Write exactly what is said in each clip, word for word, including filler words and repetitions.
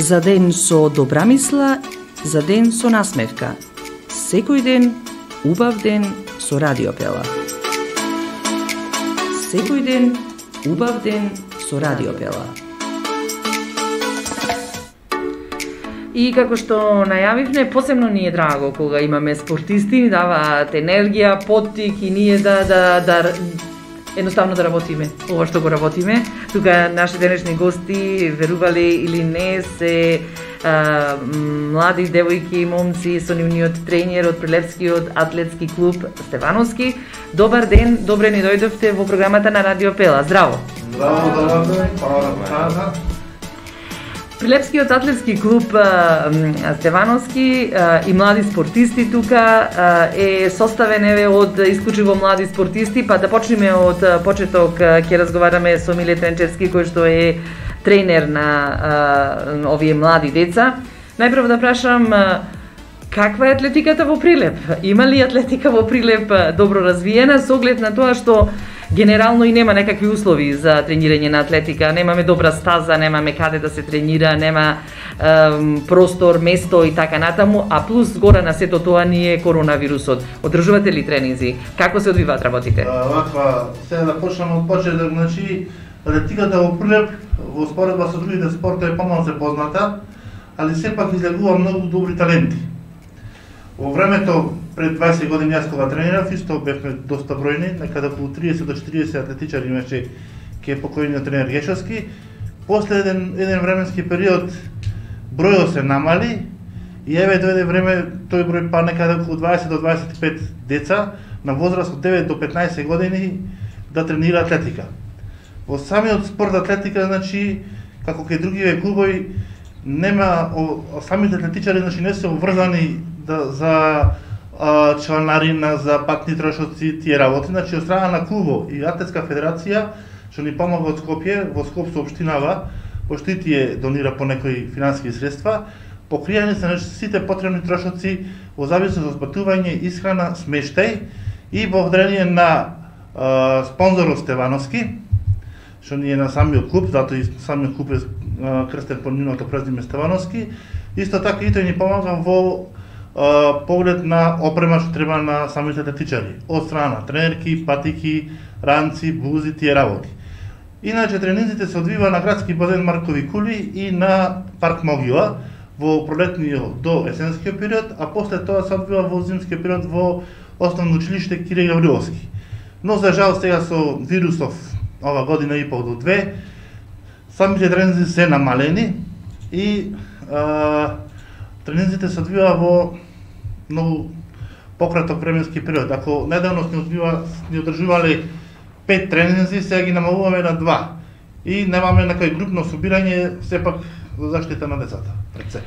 За ден со добра мисла, за ден со насмевка. Секој ден, убав ден со Радиопела. Секој ден, убав ден со Радиопела. И како што најавивме, посебно ни е драго кога имаме спортисти, ни даваат енергија, поттик и ние да, да, да едноставно да работиме, ова што го работиме. Тука наши денешни гости, верувале или не, се а, млади девојки и момци со нивниот тренер од Прилепскиот атлетски клуб Стевановски. Добар ден, добре ни дојдовте во програмата на Радиопела. Здраво! Здраво, добар ден, пара Прилепскиот атлетски клуб Стевановски и млади спортисти тука е составен еве од исклучиво млади спортисти, па да почнеме од почеток. Ќе разговараме со Миле Тренчевски, кој што е тренер на а, овие млади деца. Најпрво да прашам, каква е атлетиката во Прилеп? Има ли атлетика во Прилеп добро развиена, со оглед на тоа што генерално и нема некакви услови за тренирање на атлетика, немаме добра стаза, немаме каде да се тренира, нема ем, простор, место и така натаму, а плюс гора на сето тоа ни е коронавирусот. Одржувате ли тренинзи? Како се одвиваат работите? Ваква, сега да почнеме од почеток, значи атлетиката во Прилеп во споредба со другите спортови помалку се позната, али сепак излегува многу добри таленти. Во времето пред дваесет години јас кога тренирав, исто бевме доста бројни, некаде околу триесет до четириесет атлетичари имаше ке покојниот тренер Гешовски. После еден, еден временски период бројот се намали и еве дојде време тој број па некаде околу дваесет до дваесет и пет деца на возраст од девет до петнаесет години да тренира атлетика. Во самиот спорт атлетика, значи, како кај другиве клубови, нема о, самите атлетичари, значи, не се обврзани да, за а, чланарина, за патни трошоци, тие работи. Значи, од страна на клубо и Атлетска федерација, што ни помага од Скопје, во Скоп соопштинава, пошто и тие донира по некои финансиски средства, покријани се значи, сите потребни трошоци во зависност од патување, исхрана, смештај и благодарение на а, спонзорот Стевановски, што ни е на самиот клуб, затоа и самиот клуб е а, крстен по нивното презиме Стевановски. Исто така и тој ни помага во а, поглед на опрема што треба на самите атлетичари, од страна тренерки, патики, ранци, бузи, тие работи. Иначе тренинзите се одвива на градски базен Маркови кули и на парк Могила во пролетниот до есенскиот период, а после тоа се одвива во зимскиот период во основно училиште Кире Гавриловски. Но за жал сега со вирусов ова година и пол до две, самите тренинзи се намалени и а, тренинзите се одвива во многу пократок временски период. Ако недавно сни одвива, сни одржувале пет тренинзи, сега ги намалуваме на два. И немаме некој групно собирање, сепак за заштита на децата пред се.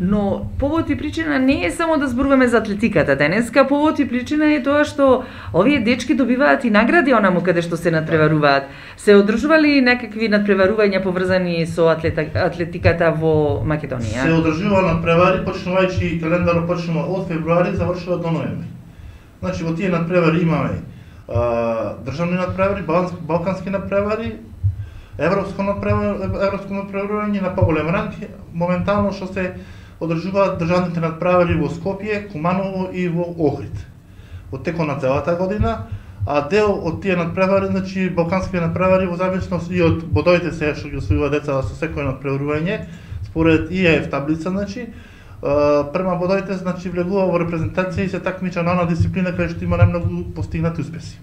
Но повод и причина не е само да зборуваме за атлетиката денеска, повод и причина е тоа што овие дечки добиваат и награди онаму каде што се надпреваруваат. Се одржували некакви надпреварувања поврзани со атлета, атлетиката во Македонија? Се одржува надпревари, почнувајќи календарот почнува од февруари, завршува до ноември. Значи во тие надпревари имаме а, државни надпревари, балкански надпревари, европско надпревари, европско надпреварување на поголем ранг, моментално што се одржуваат државните надпревари во Скопје, Куманово и во Охрид во текот на целата година, а дел од тие надпревари, значи балкански надпревари во зависност и од бодовите се што ги освојува деца со секој надпреварување, според И Е Ф таблица, значи према бодовите, значи влегува во репрезентација и се такмича на она дисциплина кај што има најмногу постигнати успеси.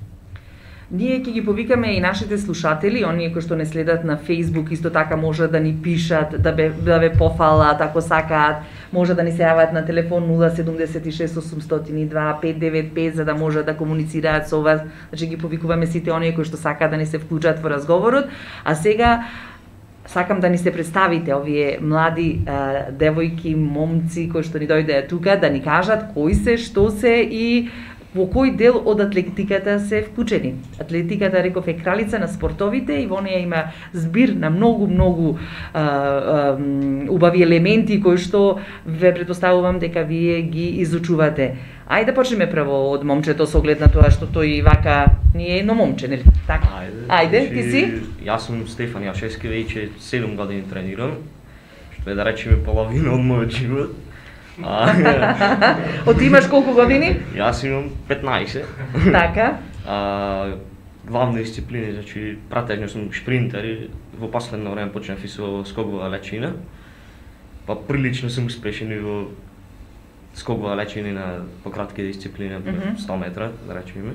Ние ќе ги повикаме и нашите слушатели, оние кои што не следат на Facebook, исто така може да ни пишат, да бе, да ве пофалат ако сакаат, може да ни се јават на телефон нула седум шест осумстотини и два пет девет пет за да може да комуницираат со вас. Значи ги повикуваме сите оние кои што сакаат да ни се вклучат во разговорот. А сега сакам да ни се представите овие млади а, девојки, момци кои што ни дојдеа тука да ни кажат кои се, што се и во кој дел од атлетиката се вклучени. Атлетиката, реков, е кралица на спортовите и во неја има збир на многу, многу а, а, убави елементи кои што ве претпоставувам дека вие ги изучувате. Ајде да почнеме прво од момчето со оглед на тоа што тој вака ни е едно момче, нели? Така. Ајде. Ајде, ти си? Јас сум Стефан Јашевски, веќе седум години тренирам. да речеме половина од мојот живот. Од имаш колку години? Јас имам петнаесет. Така. А, главни дисциплини, значи пратежно сум шпринтер и во последно време почнав и со скокова лечина. Па прилично сум успешен и во скокова лечина на пократки дисциплини, mm -hmm. сто метра, да речеме.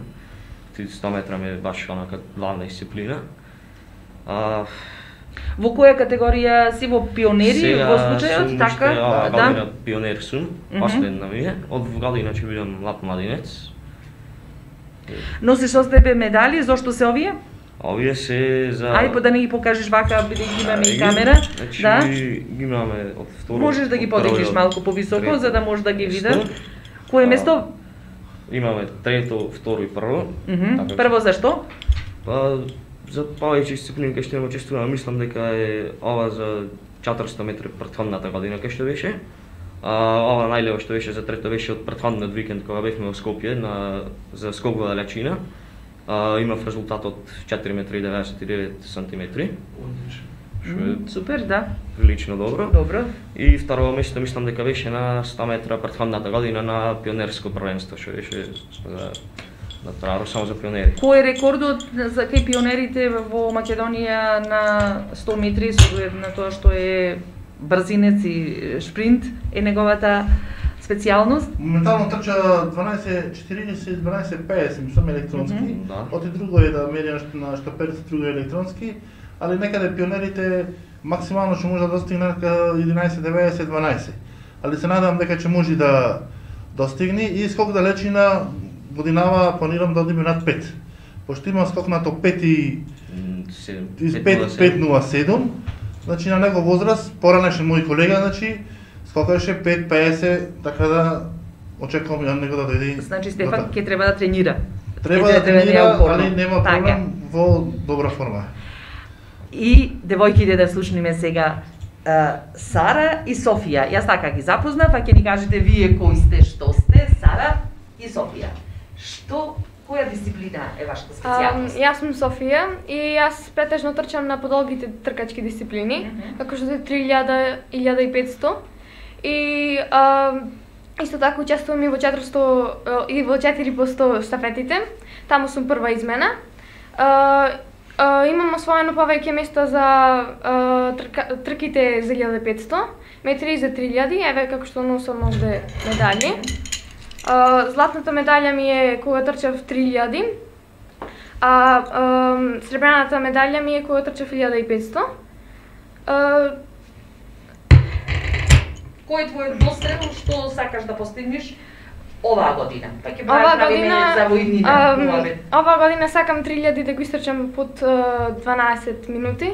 сто метра ми е баш онака главна дисциплина. А, во која категорија си, во пионери, сега во случајот, така? Сега да? година пионер сум, mm -hmm. последна ми е. Од година ќе бидам млад младинец. Носиш со тебе медали, зошто се овие? Овие се за... Ајде да не ги покажеш вака, бидејќи имаме и камера. Значи, да? ги имаме од второ... Можеш да ги подигнеш малку повисоко, за да може да ги видам. Кое место? Имаме трето, второ и прво. Mm -hmm. така, прво зашто? Па, за повеќе дисциплини кај што не учествувам, мислам дека е ова за четиристо метри претходната година кај што беше. А, ова најлево што беше за трето беше од претходниот викенд кога бевме во Скопје на за скокова лечина. А, имав резултат од четири метри деветдесет и девет сантиметри. Mm, супер, да. Прилично добро. Добро. И второ место мислам дека беше на сто метра претходната година на пионерско првенство што беше за на Траро само за пионери. Кој е рекордот за кај пионерите во Македонија на сто метри со оглед на тоа што е брзинец и шпринт е неговата специјалност? Моментално трча дванаесет четириесет, дванаесет петдесет, мислам електронски. Mm -hmm. Да. Оти друго е да мери на штаперите, друго е електронски, али некаде пионерите максимално ќе може да достигне единаесет деветдесет дванаесет. Али се надевам дека ќе може да достигне и скок да лечина годинава планирам да одиме над пет. Пошто има скок на топ пет и пет нула седум, значи на него возраст, поранешен мој колега, значи скокаше пет педесет, така да очекувам ја него да дојде. Значи Стефан ќе треба да тренира. Треба да тренира, али нема проблем, во добра форма. И девојките да слушниме сега uh, Сара и Софија. Јас така ги запознав, а ќе ни кажете вие кои сте, што сте, Сара и Софија. Што, која дисциплина е вашата специјалност? Um, јас сум Софија и јас претежно трчам на подолгите тркачки дисциплини, mm -hmm. како што се три илјади, илјада и петсто. И uh, исто така учествувам и во четиристо uh, и во четири по сто штафетите. Таму сум прва измена. Uh, Uh, имам освоено повеќе места за uh, трка, трките за илјада и петсто, метри за три илјади, еве како што носам овде медали. Uh, златната медалја ми е кога трчав три илјади, а uh, сребрената медалја ми е кога трчав илјада и петсто. Uh, Кој е твојот дострел што сакаш да постигнеш оваа година? Па ќе правиме за во идните муабет. Оваа година сакам три илјади да го истрчам под дванаесет минути.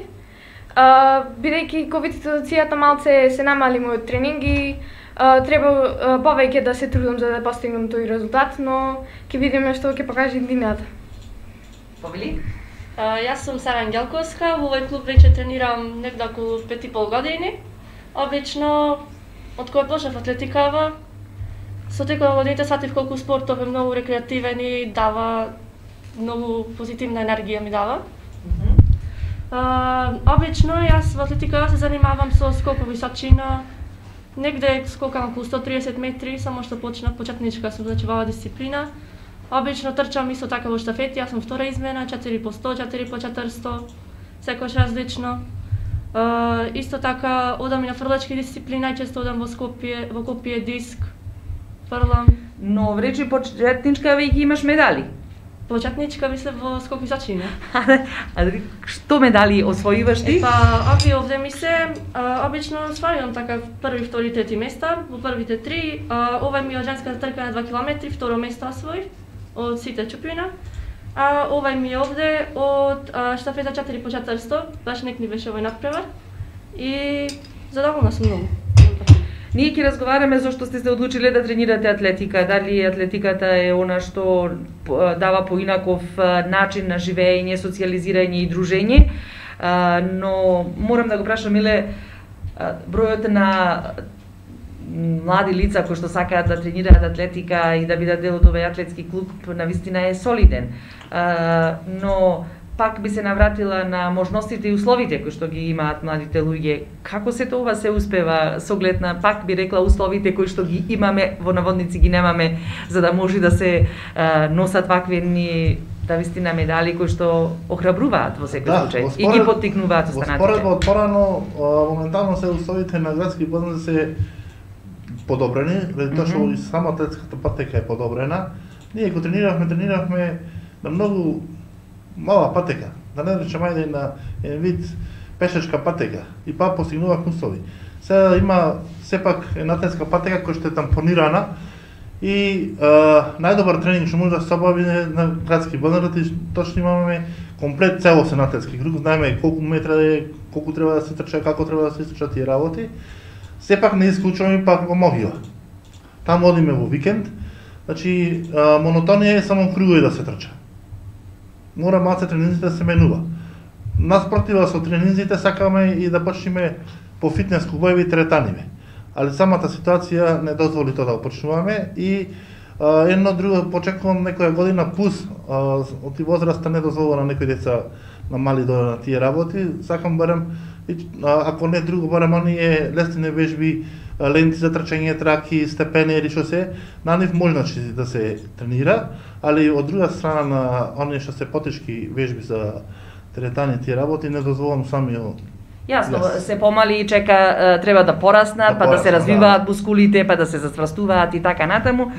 Uh, бидејќи ковид ситуацијата малце се намали мојот тренинг и uh, треба uh, повеќе да се трудам за да постигнам тој резултат, но ќе видиме што ќе покаже иднината. Повели? Uh, јас сум Сара Ангелковска, во овој клуб веќе тренирам некаде околу пет и пол години. Обично од кога почнав атлетикава, со текот на годините сатив колку спортов е многу рекреативен и дава многу позитивна енергија ми дава. Mm -hmm. uh, обично јас во атлетика се занимавам со скок во височина, негде скокам околу сто триесет метри, само што почнав почетничка сум, значи во оваа дисциплина. Обично трчам исто така во штафети, јас сум втора измена, четири по сто, четири по четиристо, секојаш различно. Uh, исто така одам и на фрлачки дисциплини, најчесто одам во Скопје, во копие диск, фрлам. Но вречи почетничка веќе имаш медали. Почетничка мисле во скок височина. А што медали освоиваш ти? Е, па, овие овде ми се, а, обично освојувам така први, втори, трети места, во првите три, а, ова ми е од женската трка на два километри, второ место освоив од сите чупина. А ова ми е овде од а, штафета четири по четиристо, баш нек ни беше овој надпревар и задоволна сум многу. Ние ќе разговараме зашто сте се одлучиле да тренирате атлетика, дали атлетиката е она што дава поинаков начин на живење, социјализирање и дружење, но морам да го прашам, Миле, бројот на млади лица кои што сакаат да тренираат атлетика и да бидат дел од овој атлетски клуб навистина е солиден. Но пак би се навратила на можностите и условите кои што ги имаат младите луѓе. Како се тоа се успева со оглед на, пак би рекла, условите кои што ги имаме, во наводници ги немаме, за да може да се а, носат вакви едни да вистина медали кои што охрабруваат во секој Да, случај во и ги според- поттикнуваат Во останатите. споредба од порано, а, моментално се условите на градски подноси се подобрени, заради тоа што Мгм. и сама атлетската патека е подобрена. Ние кога трениравме, трениравме на многу мала патека, да не речем ајде и на еден вид пешачка патека, и па постигнувавме услови. Сега има сепак една атлетска патека која што е тампонирана и а, најдобар тренинг што може да се обави е на градски боднар, точно имаме комплет целосен атлетски круг, знаеме колку метра е, колку треба да се трча, како треба да се трчат тие работи. Сепак не исклучуваме пак во Могила. Таму одиме во викенд, значи а, монотонија е само кругови да се трча. Мора малце тренинзите да се менува. Наспротива со тренинзите сакаме и да почнеме по фитнес клубови и теретаниве. Али самата ситуација не дозволи тоа да го почнуваме и а, едно друго почекувам некоја година пус а, од и возраста не дозволува на некои деца на мали да на тие работи. Сакам барем и, а, ако не друго барем оние лестини вежби, а, ленти за трчање, траки, степени или што се, на нив може значи да се тренира, али од друга страна на оние што се потешки вежби за теретани тие работи не дозволам самиот. Јасно, Јас. се помали и чека, е, треба да пораснат, Да па да се пораснат, развиваат да. мускулите, па да се зацврстуваат и така натаму.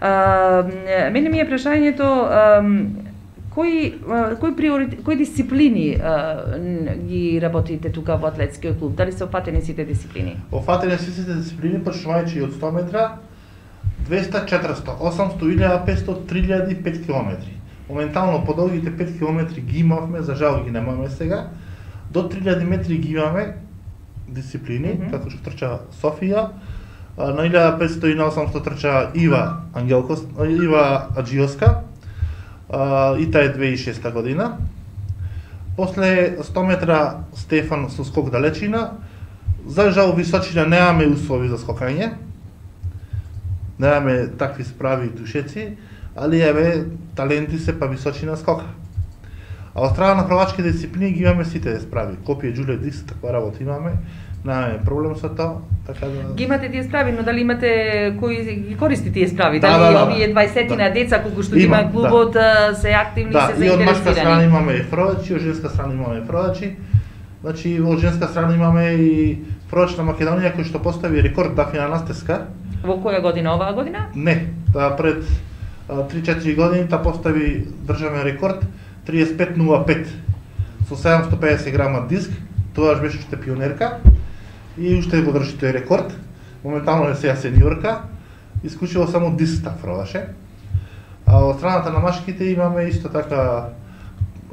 А, мене ми е прашањето, ам, кои а, кои приоритет, кои дисциплини а, н- ги работите тука во атлетскиот клуб? Дали се опфатени сите дисциплини? Офатени сите дисциплини, почнувајќи од сто метра, двеста, четиристо, осамсто, илјада, петсто, три илјади и пет километри. Моментално по долгите пет километри ги имавме, за жал ги немаме сега. До три илјади метри ги имаме дисциплини, Мгм. како што трча Софија, а, на илјада петсто и на осамсто трча Ива Ангелко, Ива Аджиоска, а, и таа е две тисачи и шеста година. После сто метра Стефан со скок далечина. За жал височина немаме услови за скокање. Немаме такви справи и душеци, али еве таленти се па височина скока. А од страна на хрватски дисциплини ги имаме сите справи. Копија, џуле, диск, таква работа имаме. Немаме проблем со тоа, така да... Ги имате тие справи, но дали имате кои ги користи тие справи? Да, Дали да, да, овие дваесетина да. деца колку што ги Има, има клубот а, се активни, Да, се и од машка страна заинтересирани? имаме фродачи, од женска страна имаме фродачи. Значи, од женска страна имаме и фродач на Македонија кој што постави рекорд Дафина Настеска. Во која година, оваа година? Не, таа пред а, три-четири години таа постави државен рекорд триесет пет нула пет со седумсто педесет грама диск. Тоа беше уште пионерка и уште го држи тој рекорд. Моментално е сега сениорка. Исклучиво само диск таа фродаше. А од страната на машките имаме исто така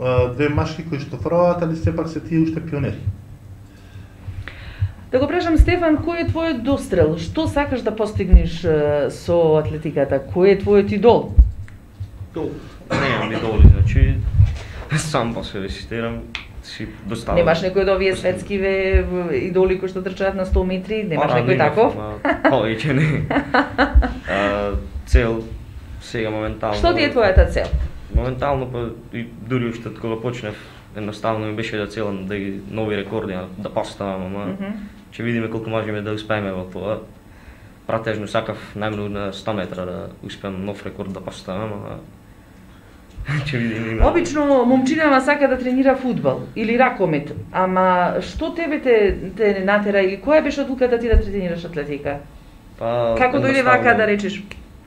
а, две машки кои што фродат, али сепак се тие уште пионери. Да го прашам, Стефан, кој е твојот дострел? Што сакаш да постигнеш е, со атлетиката? Кој е твојот идол? Немам идоли, значи сам па се реситирам, си доставам. Немаш некој од овие светскиве в- идоли кои што трчаат на сто метри? Немаш некој таков? Повеќе не. А, цел сега моментално. Што ти е твојата цел? Моментално па и дури уште од кога почнев, едноставно ми беше да целам да ги нови рекорди да поставам, ама Мгм. ќе видиме колку можеме да успееме во тоа. Пратежно сакав најмногу на сто метра да успеам нов рекорд да поставам, ама ќе видиме. има- Обично момчинава сака да тренира фудбал или ракомет, ама што тебе те, те натера или која беше одлуката ти да тренираш атлетика? Па, Како дојде едноставно, вака да речеш,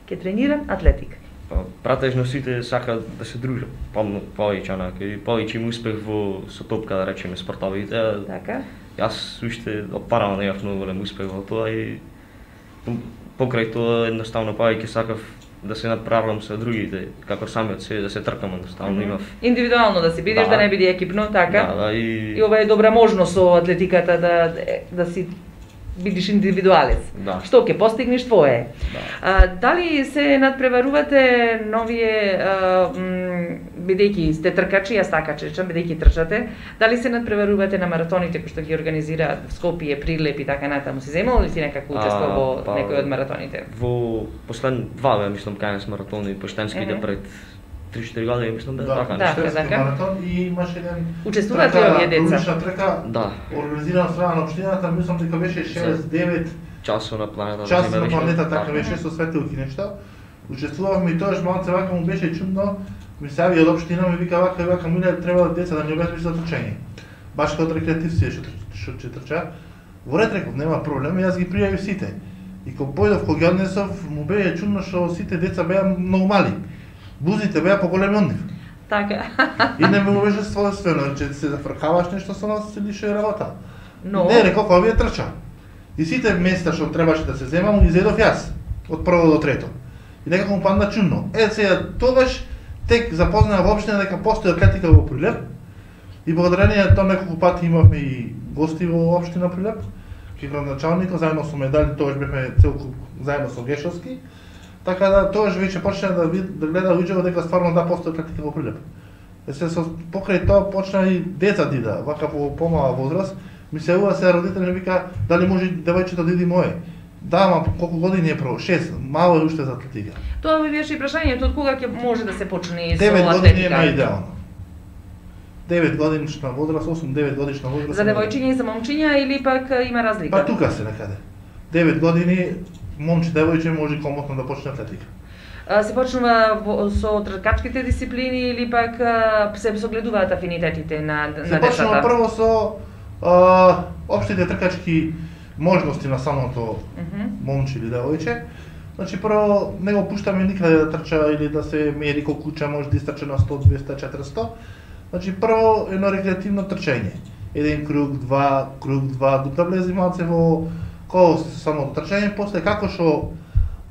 ќе тренирам атлетика? Па, пратежно сите сакаат да се дружат, помно повеќе онака и повеќе им успех во со топка да речеме спортовите. а Така? Јас уште од парано немав многу голем успех во тоа и по- покрај тоа едноставно повеќе сакав да се надправам со другите, како самиот се да се тркам едноставно Мгм. имав. Индивидуално да си бидеш, да, Да. не биде екипно, така? Да, да, и, И ова е добра можност со атлетиката да да си бидеш индивидуалец. Да. Што ќе постигнеш твое. Да. А, дали се надпреварувате новие а, м, бидејќи сте тркачи, јас така речам, бидејќи трчате, дали се надпреварувате на маратоните кои што ги организираат в Скопје, Прилеп и така натаму? Си земал ли си некако учество А, во па, некој од маратоните? Во последни два, бе, мислам, кај нас маратони поштенските Мгм. пред три-четири години, мислам да е Да, така да. нешто. така. маратон и имаше еден Учествуваат ли овие деца? Улична трка, Да, организирана од страна на општината, мислам дека беше шест девет часот на планета. час да на беше планета, така. така беше со светилки нешта. Учествувавме и тоаш малце вака му беше чудно. Ми се јави од општина ми вика вака и вака миле треба деца да ни обезбеди за трчање. Баш како рекреативци што што ќе трча. Во ред реков нема проблем, јас ги пријавив сите. И кога појдов кога ги однесов, му беше чудно што сите деца беа многу мали. Бузите беа поголеми од нив. Така. И не ми беше свойствено, че се зафркаваш нешто со нас се лише работа. Но Не, реков, овие трча. И сите места што требаше да се земам, ги зедов јас. Од прво до трето. И некако му падна чудно. Е, сега, тогаш тек запознаа воопшто дека постои атлетика во Прилеп. И благодарение на тоа неколку пати имавме и гости во општина Прилеп. Ки градоначалникот заедно со медали, тогаш бевме цел куп заедно со Гешовски. Така да тогаш веќе почна да, вид, да гледа луѓето дека стварно да постои атлетика во Прилеп. Е се со покрај тоа почна и деца да ида, вака по помала возраст. Ми се јавува се родители ми вика дали може девојчето да иди моје. Да, ама колку години е про? шест, мало е уште за атлетика. тоа ми беше и прашањето од кога ќе може да се почне со девет години е атлетика. најидеално. девет годишна возраст, осум-девет годишна возраст. За девојчиња и за момчиња или пак има разлика? Па тука се некаде. девет години момче девојче може комотно да почне атлетика. А, се почнува во, со тркачките дисциплини или пак а, се согледуваат афинитетите на, на Се почнува децата? прво со а, општите тркачки можности на самото Мгм. момче или девојче. Значи прво не го пуштаме никаде да трча или да се мери колку куча може да истрче на сто, двеста, четиристо. Значи прво едно рекреативно трчање. Еден круг, два, круг, два, да влезе малце во кол самото трчање, после како што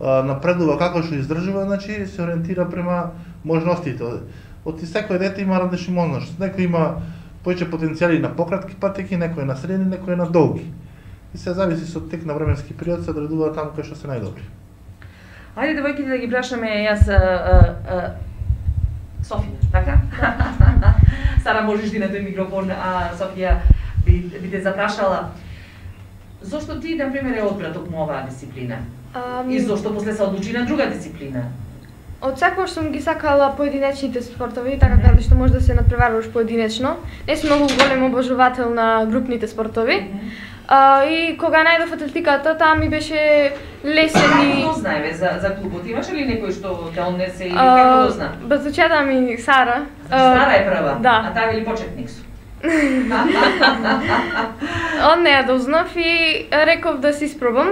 а, напредува, како што издржува, значи се ориентира према можностите. Од секој дете има различни можности. Некој има повеќе потенцијали на пократки патеки, некој на средни, некој на долги. И се зависи со тек на временски период се одредува таму кај што се најдобри. Ајде девојките да ги прашаме јас а, а, а, Софија, така? Сара можеш ти на тој микрофон, а Софија би, би те запрашала. Зошто ти, например, е одбра токму оваа дисциплина? Ами, И зошто после се одлучи на друга дисциплина? Од секогаш сум ги сакала поединечните спортови, така каде што може да се надпреваруваш поединечно. Не сум многу голем обожувател на групните спортови. А, и кога најдов атлетиката, таа ми беше лесен и... Како знаеме за, за клубот? Имаш ли некој што те однесе или како го зна? Базучета ми Сара. Стара е прва, Да. а таа вели почетник су. Од неја дознав и реков да се испробам.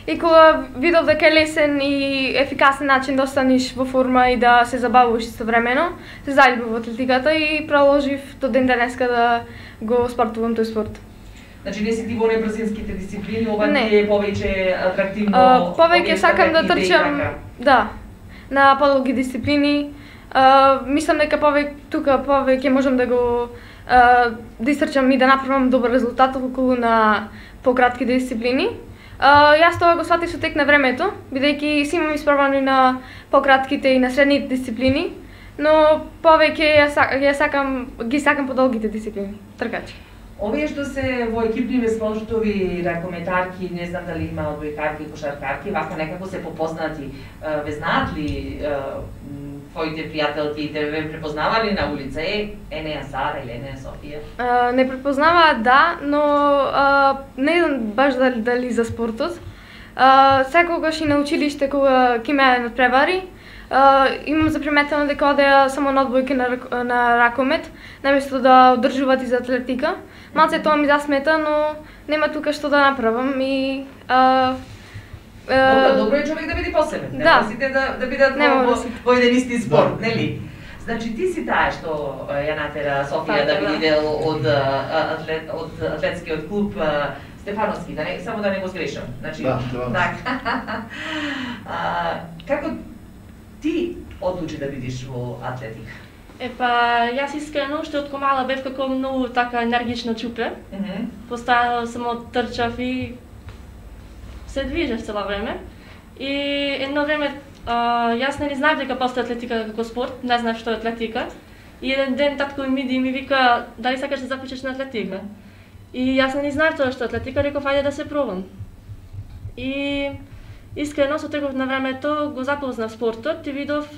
И кога видов дека е лесен и ефикасен начин да останеш во форма и да се забавуваш истовремено, се заљубив во атлетиката и продолжив до ден денеска да го спортувам тој спорт. Значи не си ти во небрзинските дисциплини, ова Не. ти е повеќе атрактивно. А, повеќе овие сакам да стафетите и трчам, така. да, на подолги дисциплини. А, мислам дека повеќе тука повеќе можам да го а, да истрчам и да направам добар резултат околу на пократки дисциплини. А, јас тоа го сватив со тек на времето, бидејќи си имам испробани на пократките и на средните дисциплини, но повеќе ја, са- ја сакам ги сакам подолгите дисциплини, тркачи. Овие што се во екипни спортови, ракометарки, не знам дали има одбојкарки и кошаркарки, вака некако се попознати. Е, Ве знаат ли е, м, твоите пријателки, те ве препознавали на улица? Е, ене ја Сара или ене ја Софија? А, не препознаваат, да, но а, не знам баш дали, дали за спортот. А, секогаш и на училиште кога ќе ме надпревари, а, имам заприметено дека одеа само на одбојки на, рак- на ракомет, наместо да одржуваат и за атлетика. Малце тоа ми засмета, но нема тука што да направам и а, а, Добро, добро е човек да биде посебен. Не да. може сите да, да бидат Не во, може во, да си. во еден исти спорт, Да. нели? Значи ти си таа што е, ја натера Софија Така, да биде да. дел од а, атлет, од атлетскиот клуб а, Стефановски, да не, само да не го сгрешам. Значи, Да, Стефановски. така. А, како ти одлучи да бидеш во атлетика? Епа, јас искрено уште од комала бев како многу така енергично чупе. Мгм. Постојано само трчав и се движев цело време. И едно време а, јас не знаев дека постои атлетика како спорт, не знаев што е атлетика. И еден ден татко ми иде и ми вика дали сакаш да запишеш на атлетика. И јас не знаев тоа што е атлетика, реков ајде да се пробам. И искрено со текот на времето го запознав спортот и видов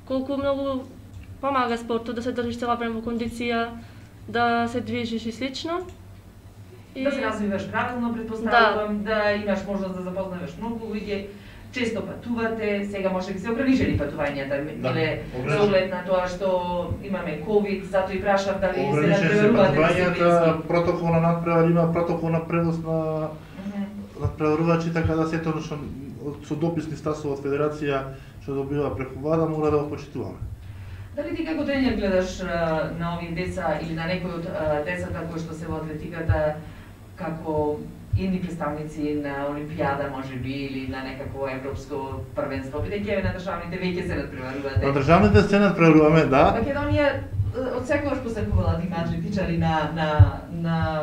колку многу помага спортот да се држиш цела време во кондиција, да се движиш и слично. И... Да се развиваш правилно, предпоставувам, да. да имаш можност да запознаеш многу луѓе. Често патувате, сега може би се ограничени патувањата, да, или за оглед на тоа што имаме ковид, затоа и прашав дали се надпреварувате патувањата, протокол на надпревар има протокол на превоз на uh -huh. надпреварувачи, така да сето што со дописни стасови од федерација што добива преку ВАДА мора да го почитуваме. Дали ти како тренер гледаш на овие деца или на некои од децата кои што се во атлетиката како едни представници на Олимпијада, може би, или на некакво европско првенство, бидејќи на државните веќе се надпреварувате? На државните се надпреваруваме, да. Македонија од секогаш посакувала да има атлетичари на на на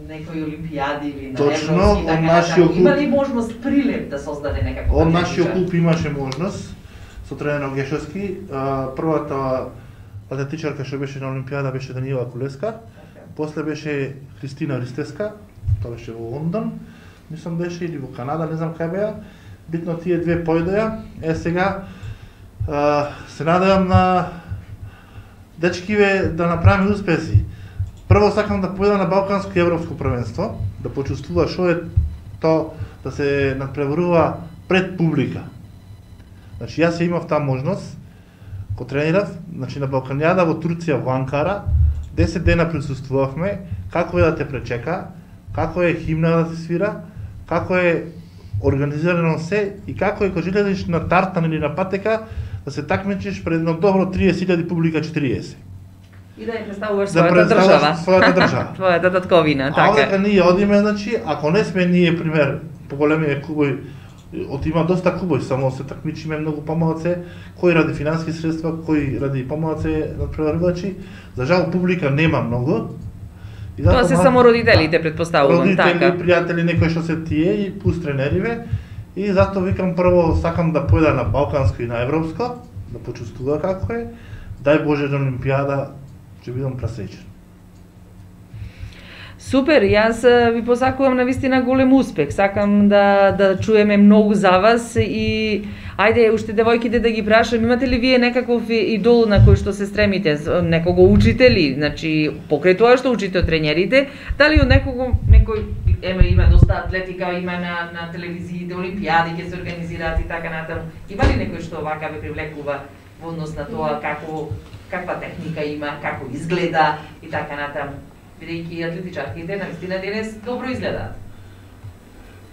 некои олимпијади или на точно, европски, така нашиот клуб... Има ли можност прилеп да создаде некакво? Од нашиот клуб имаше можност со тренер Гешовски. Првата атлетичарка што беше на Олимпијада беше Даниела Кулеска. После беше Христина Ристеска, тоа беше во Лондон, мислам беше или во Канада, не знам кај беа. Битно тие две појдеа. Е сега а, се надевам на дечкиве да направиме успеси. Прво сакам да појдам на Балканско и Европско првенство, да почувствува што е тоа да се надпреварува пред публика. Значи јас ја имав таа можност, ко тренирав, значи на Балканијада во Турција во Анкара, десет дена присуствувавме, како е да те пречека, како е химна да се свира, како е организирано се и како е кога излезеш на тартан или на патека да се такмичиш пред едно добро триесет илјади публика четириесет. И да ја представуваш да својата држава. Својата држава. Твојата татковина, така. А одека ние одиме, значи, ако не сме ние, пример, поголемиот клубови, од има доста клубови, само се такмичиме многу помалце, кои ради финански средства, кои ради помалце надпреварувачи. За жал публика нема многу. И тоа се само родителите, предпоставувам, така. Родители, пријатели, некои што се тие и пус тренериве. И затоа викам прво сакам да појда на Балканско и на Европско, да почувствува како е. Дај Боже на Олимпијада, ќе бидам пресреќен. Супер, јас ви посакувам навистина голем успех. Сакам да да чуеме многу за вас и ајде уште девојките да ги прашам, имате ли вие некаков идол на кој што се стремите, некого учители, значи покрај тоа што учите од тренерите, дали од некого некој еме има доста атлетика, има на на телевизиите олимпијади ќе се организираат и така натаму. Има ли некој што вака ве привлекува во однос на тоа како каква техника има, како изгледа и така натаму? Бидејќи атлетичарките навистина денес добро изгледаат.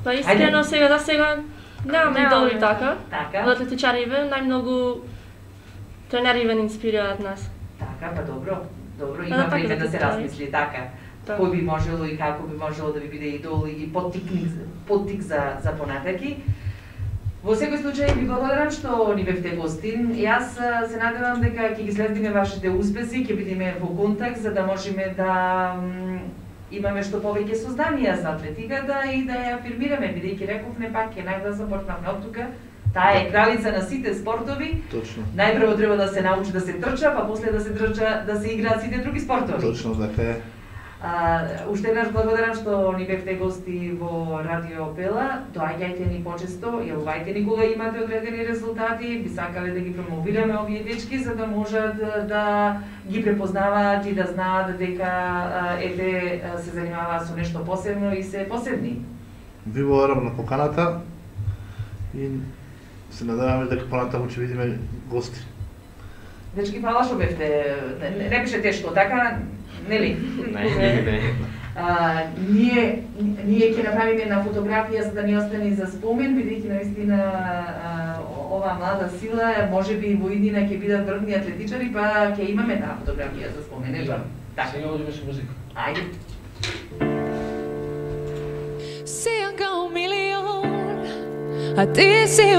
Па искрено сега за сега немаме идоли така. Така. Од атлетичариве најмногу тренериве ни инспирираат нас. Така, па добро. Добро, има време да се размисли така. Кој би можело и како би можело да ви биде идол и поттикник, поттик за за понатаки. Во секој случај ви благодарам што ни бевте гостин. Јас се надевам дека ќе ги следиме вашите успеси, ќе бидеме во контакт за да можеме да имаме што повеќе созданија за атлетиката и да ја афирмираме, бидејќи рековме пак ќе најда започнавме од тука. Таа е кралица на сите спортови. Точно. Најпрво треба да се научи да се трча, па после да се трча да се играат сите други спортови. Точно така е. А, уште еднаш благодарам што ни бевте гости во Радио Пела. Доаѓајте ни почесто, јавувајте ни кога имате одредени резултати, би сакале да ги промовираме овие дечки за да можат да, да ги препознаваат и да знаат дека ете се занимаваат со нешто посебно и се посебни. Ви благодарам на поканата и се надеваме дека понатаму ќе видиме гости. Дечки, фала што бевте, не, не беше тешко, така? Нели? Не, не, не. А, ние, ние ќе направиме една фотографија за да ни остане за спомен, бидејќи наистина оваа млада сила, може би во иднина ќе бидат врвни атлетичари, па ќе имаме таа фотографија за спомен, нели? Така. Сега одиме со музика. Ајде. Sean kao milion, a ti si